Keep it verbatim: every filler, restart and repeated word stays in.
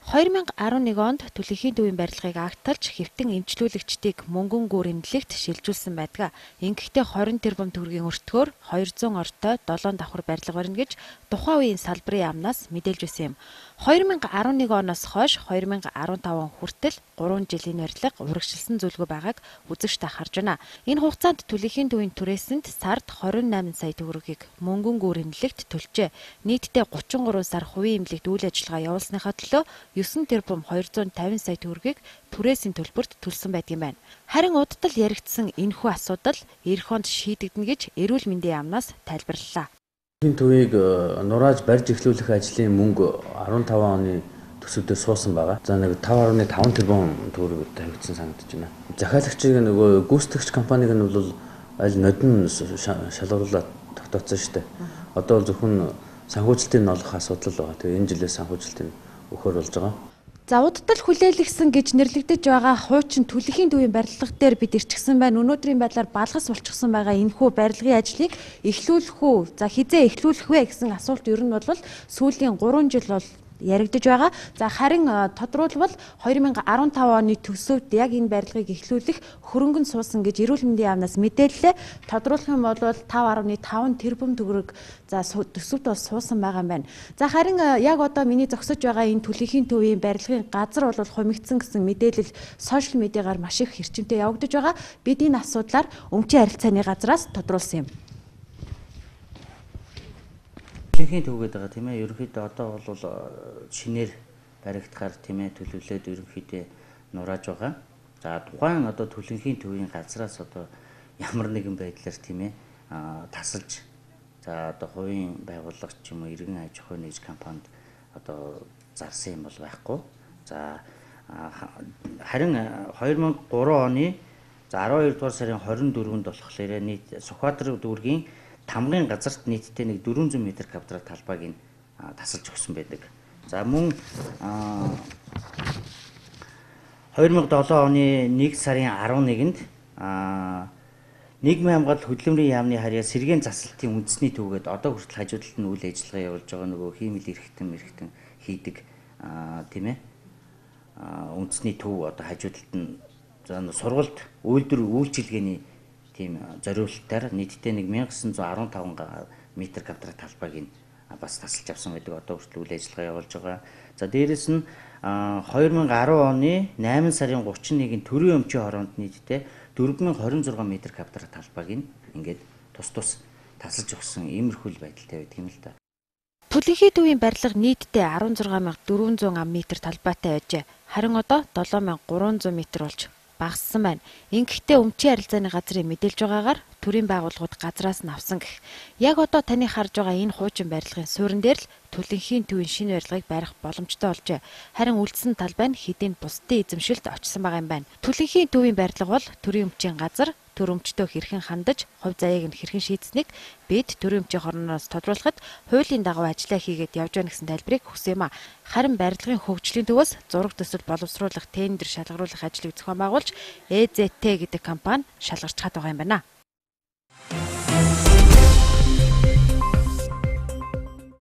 хоёр мянга арван нэг онд түлхийхийн төвийн барилгыг агталж хэвтэн эмчлүүлэгчдийг мөнгөн гүр эмнэлэгт шилжүүлсэн байдаг. Ингэхдээ хорин тэрбум төгрөгийн өртгөөр хоёр зуун ортой долоон давхар барилга барина гэж тухайн үеийн салбарын яамнаас мэдээлж байсан юм. хоёр мянга арван нэг оноос хойш хоёр мянга арван тав он хүртэл гурван жилийн барилга урагшилсан зүйлгүй байгааг үзэгчтэй харж байна. Энэ хугацаанд түлхийхийн төвийн түрээсэнд сард хорин найман сая төгрөгийг мөнгөн гүр эмнэлэгт төлжээ. Нийтдээ гучин гурван сар хувийн эмнэлэгт үйл ажиллагаа явуулсныхаа төлөө9 тэрбум хоёр зуун тавин сая төгрөгийг түрээсийн төлбөрт төлсөн байдгийн байна. Харин удтал яригдсан энэхүү асуудал эх онд шийдэгдэнэ гэж эрүүл мэндийн яамнаас тайлбарлалаа. Энэ төвийг нурааж барьж эхлүүлэх ажлын мөнгө арван таван оны төсөвдөө суусан байгаа. За нэг таван гаруй таван тэрбум төгрөг тавигдсан санагдаж байна. Захиалагчийг нөгөө гүйцэтгэгч компаниг нь бол аль нодон шалгаруулаад тогтооцсон шүү дээ. Одоо бол зөвхөн санхүүжилтийг нь олох асуудал байгаа. Тэгээ энэ жилээс санхүүжилтийг өгөхөр болж байгаа. За удтал хүлээлгсэн гэж нэрлэгдэж байгаа хуучин түлхийхийн төвийн барилга дээр бид ирчихсэн байна. Өнөөдрийн байдлаар балгас болчихсон байгаа энэхүү барилгын ажлыг эхлүүлэх үү? За хизээ эхлүүлэх вэ гэсэн асуулт ер нь бол сүүлийн гурван жил бол яригдж байгаа. За харин тодруулбал хоёр мянга арван тав оны төсөвд яг энэ барилгыг эхлүүлэх хөрөнгө нь суусан гэж эрүүл мэндийн яамнаас мэдээллээ. Тодруулах юм бол таван гаруй таван тэрбум төгрөг за төсөвд бол суусан байгаа юм байна. За харин яг одоо миний зогсож байгаа энэ түлхийхийн төвийн барилгын газар бол хумигдсан гэсэн мэдээлэл сошиал медиагаар маш их хэрчимтэй явагдаж байгаа. Бид энэ асуудлаар өмчийн харилцааны газраас тодруулсан юм. Түлхийхийн төв гэдэг байгаа тийм ээ. Ерөнхийдөө одоо бол шинээр баригдахаар тийм ээ төлөвлөлөөд ерөнхийдөө нурааж байгаа. За тухайн одоо түлхийхийн төвийн газраас одоо ямар нэгэн байдлаар тийм ээ тасалж за одоо хувийн байгууллага ч юм уу иргэн аж ахуй нэгж компанид одоо зарсан юм бол байхгүй. За харин хоёр мянга гурван оны за арван хоёр дугаар сарын хорин дөрөвөнд болохоор нийт Сүхбаатар дүүргийн тамгын газарт нийтдээ нэг дөрвөн зуун метр квадрат талбайг нь тасалж өгсөн байдаг. За мөн хоёр мянга долоон оны нэг сарын арван нэгэнд нийгмийн хамгаалалт хөдөлмөрийн яамны харьяа сэргээн заслалтын үндэсний төвгээд одоо хүртэл хажуудалд нь үйл ажиллагаа явуулж байгаа нөгөө хиймэл эрхтэн мэрхтэн хийдэг тийм ээ үндэсний төв одоо хажуудалд нь за сургалт үйлдвэр үйлчилгээний тийм зориулалтаар нийтдээ нэг мянга гэсэн зуун арван таван метр квадрат талбайг нь бас тасалж авсан байдаг. Одоо хүртэл үйл ажиллагаа явуулж байгаа. За дээрэс нь хоёр мянга арван оны найман сарын гучин нэгний төрийн өмчийн хороонд нийтдээ дөрвөн мянган хорин зургаан метр квадрат талбайг нь ингээд тус тус тасалж өгсөн иймэрхүү байдалтай байдаг юм л да. Түлхийхийн төвийн барилга нийтдээ арван зургаан мянга дөрвөн зуун метр талбайтай байжээ. Харин одоо долоон мянга гурван зуун метр болж багассан байна. Ингэхдээ өмчийн харилцааны газрын мэдээлж байгаагаар төрийн байгууллагууд газраас нь авсан гэх. Яг одоо таны харж байгаа энэ хуучин барилгын суурин дээр л түлхийхийн төвийн шинэ барилгыг барих боломжтой болжээ. Харин үлдсэн талбай нь хэдийн бусдын эзэмшилд очсон байгаа юм байна. Түлхийхийн төвийн барилга бол төрийн өмчийн газар төр өмчтөө хэрхэн хандаж, хувь заяаг нь хэрхэн шийдсэнийг бид төрийн өмчийн хорноос тодруулахад хуулийн дагуу ажиллаа хийгээд явж байна гэсэн тайлбарыг өгсөн юм а. Харин барилгын хөгжлийн төвөөс зураг төсөл боловсруулах, тендер шалгаруулах ажлыг зохион байгуулж Э Зэ Тэ гэдэг компани шалгарч хаад байгаа юм байна.